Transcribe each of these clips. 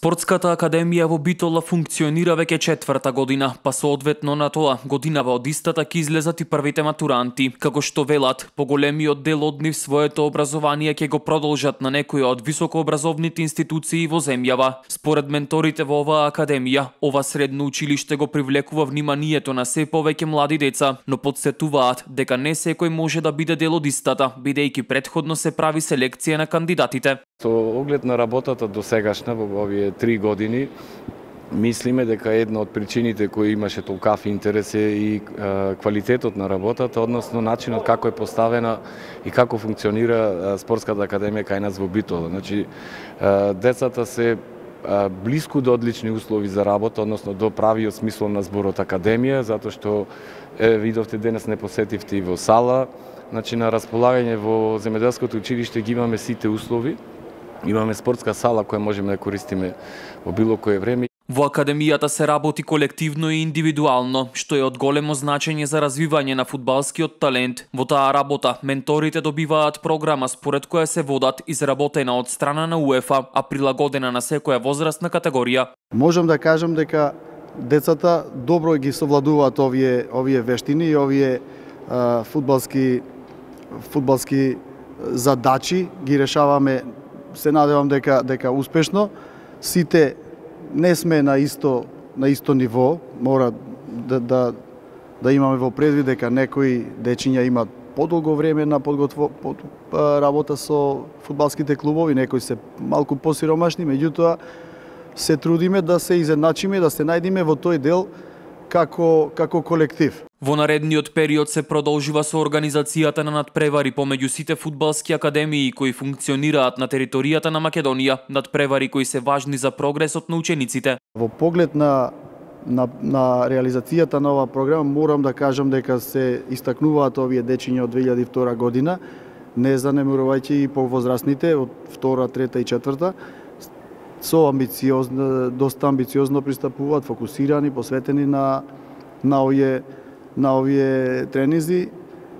Спортската академија во Битола функционира веќе четврта година, па соодветно на тоа годинава од истата ќе излезат и првите матуранти. Како што велат, поголемиот дел од нив своето образование ќе го продолжат на некоја од високообразовните институции во земјава. Според менторите во оваа академија, ова средно училиште го привлекува вниманието на се повеќе млади деца, но потсетуваат дека не секој може да биде дел од истата, бидејќи претходно се прави селекција на кандидатите. Со оглед на работата до сегашна во овие 3 години, мислиме дека една од причините кои имаше толкав интерес е и квалитетот на работата, односно начинот како е поставена и како функционира спортската академија кај нас во Битола. Значи, децата се блиску до одлични услови за работа, односно до правиот смисол на зборот академија, затоа што видовте денес не посетивте и во сала. Значи, на располагање во земјоделското училиште ги имаме сите услови. Имаме спортска сала која можеме да користиме во било кое време. Во академијата се работи колективно и индивидуално, што е од големо значење за развивање на фудбалскиот талент. Во таа работа менторите добиваат програма според која се водат изработена од страна на УЕФА, а прилагодена на секоја возрастна категорија. Можам да кажам дека децата добро ги совладуваат овие вештини и овие фудбалски задачи ги решаваме. Се надевам дека успешно. Сите не сме на исто ниво, мора да имаме во предвид дека некои дечиња имаат подолго време на работа со фудбалските клубови, некои се малку посиромашни, меѓутоа се трудиме да се изедначиме, да се најдеме во тој дел како колектив. Во наредниот период се продолжува со организацијата на надпревари помеѓу сите фудбалски академии кои функционираат на територијата на Македонија, надпревари кои се важни за прогресот на учениците. Во поглед на реализацијата на оваа програма морам да кажам дека се истакнуваат овие дечиња од 2002 година, не занемарувајќи и повозрастните од 2, 3 и 4 со доста амбициозно пристапуваат, фокусирани, посветени на овие тренинзи,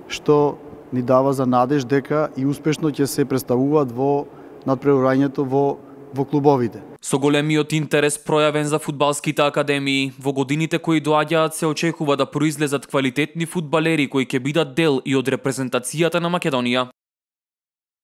што ни дава за надеж дека и успешно ќе се представуваат во надпреварањето во клубовите. Со големиот интерес пројавен за фудбалските академии, во годините кои доаѓаат се очекува да произлезат квалитетни фудбалери кои ќе бидат дел и од репрезентацијата на Македонија.